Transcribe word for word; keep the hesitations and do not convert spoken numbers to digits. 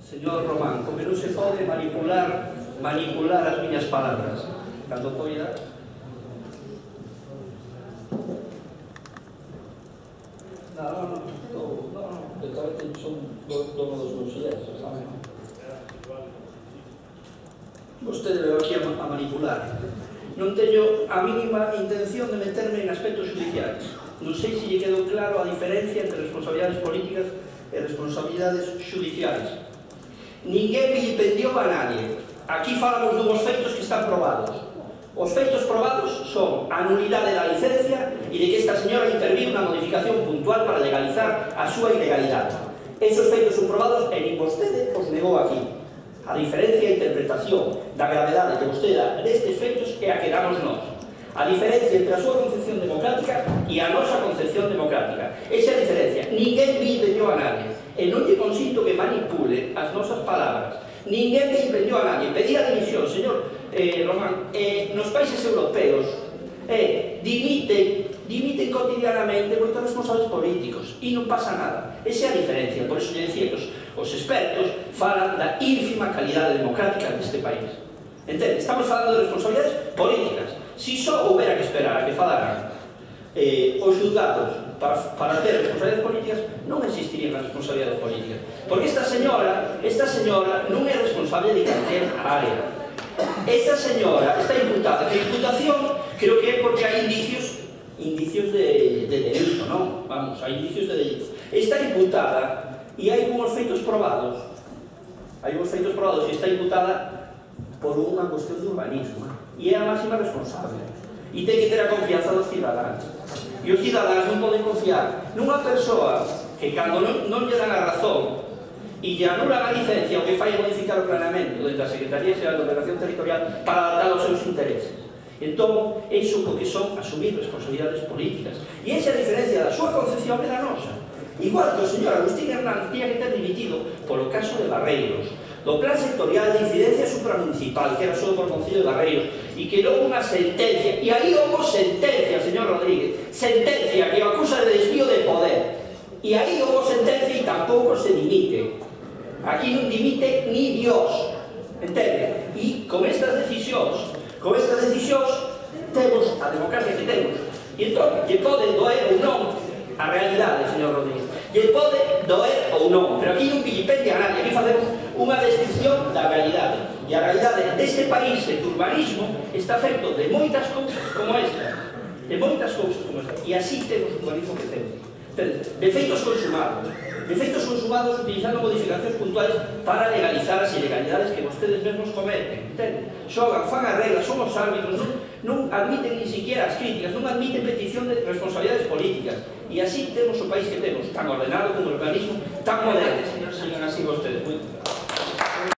Señor Román, como non se pode manipular manipular as miñas palabras. Cando poida... No, no, no, no, no, de cabeza son dono dos meus silenzos, sabe? Vostede veo aquí a manipular. Non teño a mínima intención de meterme en aspectos judiciais. Non sei se lle quedou claro a diferencia entre responsabilidades políticas e responsabilidades judiciais. Ninguén vilipendiou a nadie. Aquí falamos dun feitos que están probados. Os feitos probados son a nulidade da licencia e de que esta señora interviu na modificación puntual para legalizar a súa ilegalidade. Esos feitos son probados e nin vostede os negou aquí. A diferencia e interpretación da gravedade que vostede dá destes feitos é a que damos nós. A diferencia entre a súa concepción democrática e a nosa concepción democrática. Esa é a diferencia. Ninguén vilipendiou a nadie. E non lle consinto que manipule as nosas palabras. Ninguén vilipendiou a nadie. Pedía dimisión, señor eh, Román. Eh, nos países europeos eh, dimiten, dimiten cotidianamente moitos responsables políticos e non pasa nada. Esa é a diferencia. Por eso lle decía que os, os expertos falan da ínfima calidade democrática deste país. Entende? Estamos falando de responsabilidades políticas. Si só houbera que esperar a que falaran eh, os xulgados para, para ter responsabilidades políticas, non existirían as responsabilidades políticas. Porque esta señora, esta señora non é responsable de calquer área. Esta señora está imputada. A imputación creo que é porque hai indicios indicios de, de delito, non? Vamos, hai indicios de delito. Está imputada e hai unhos feitos probados. Hai unhos feitos probados e está imputada por unha cuestión de urbanismo. E é a máxima responsable. E ten que ter a confianza dos cidadáns. E os cidadáns non poden confiar nunha persoa que cando non, non lle dan a razón e lle anulan a licencia o que fai é modificar o planeamento dentro da Secretaría Xeral de Ordenación Territorial para adaptar aos seus intereses. Entón, iso o que son asumir responsabilidades políticas. E esa é a diferencia da súa concepción e da nosa. Igual que o señor Agustín Hernández tiña que ter dimitido polo caso de Barreiros, do plan sectorial de incidencia supramunicipal que era só por Concello de Barreiros e que non unha sentencia, e aí houve sentencia, señor Rodríguez, sentencia que o acusa de desvío de poder, e aí houve sentencia e tampouco se dimite. Aquí non dimite ni Dios, entende? E con estas decisións, con estas decisións temos a democracia que temos. E entón, lle pode doer ou non a realidade, señor Rodríguez. Lle pode doer ou non, pero aquí non vilipendia a nadie. Aquí facemos unha descripción da realidade. E a realidade deste país, de urbanismo, está feito de moitas cousas como esta. De moitas cousas como esta. E así temos o urbanismo que temos. De feitos consumados. De feitos consumados utilizando modificacións puntuales para legalizar as ilegalidades que vostedes mesmos cometen. Xogan, fan as reglas, son os árbitros, non, non admiten ni siquiera as críticas, non admiten petición de responsabilidades políticas. E así temos o país que temos, tan ordenado como o urbanismo, tan moderno. Sigan así vostedes.